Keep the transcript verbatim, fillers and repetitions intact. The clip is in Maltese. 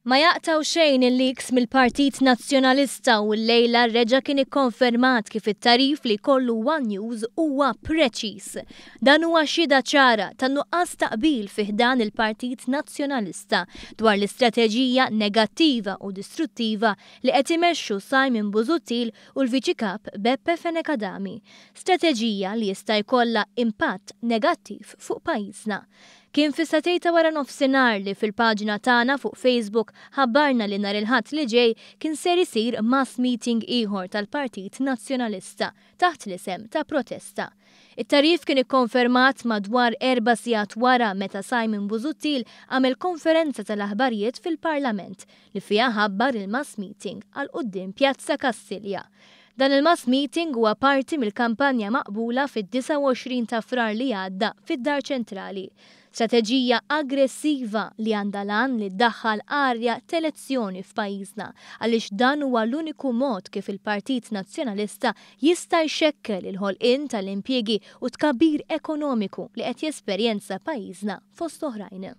Ma jaqtgħu xejn il-leaks mill-Partit Nazzjonalista u llejla reġa' kien ikkonfermat kif it-tagħrif li kollu One News huwa preċiż. Dan huwa xhieda ċara ta' nuqqas ta' qbil fi ħdan il-Partit Nazzjonalista dwar l-istrateġija negattiva u distruttiva li qed imexxu Simon Busuttil u l-Viċi Kap Beppe Fenech Adami. Strateġija li jista' jkollha impatt negattiv fuq pajjiżna. Kien fis-sagħtejn ta' wara nofsinhar li fil-paġna tagħna fuq Facebook ħabbarna li nhar il-Ħadd li ġej kien ser isir mass meeting ieħor tal-Partit Nazzjonalista taħt l-isem ta' protesta. It-tagħrif kien ikkonfermat madwar erba' sigħat wara meta Simon Busuttil għamel konferenza tal-aħbarijiet fil-Parlament li fiha ħabbar il-mass meeting għal quddiem Pjazza Kastilja. Dan il-mass meeting huwa parti mill-kampanja maqbula fid-disgħa u għoxrin ta' Frar li għadda fid-Dar Ċentrali. Strateġija aggressiva li għandha l-għan li ddaħħal arja t'elezzjoni f'pajjiżna għaliex dan huwa l-uniku mod kif il-Partit Nazzjonalista jista' jxekkel il-ħolqien tal-impjiegi u tkabbir ekonomiku li qed jesperjenza pajjiżna fost oħrajn.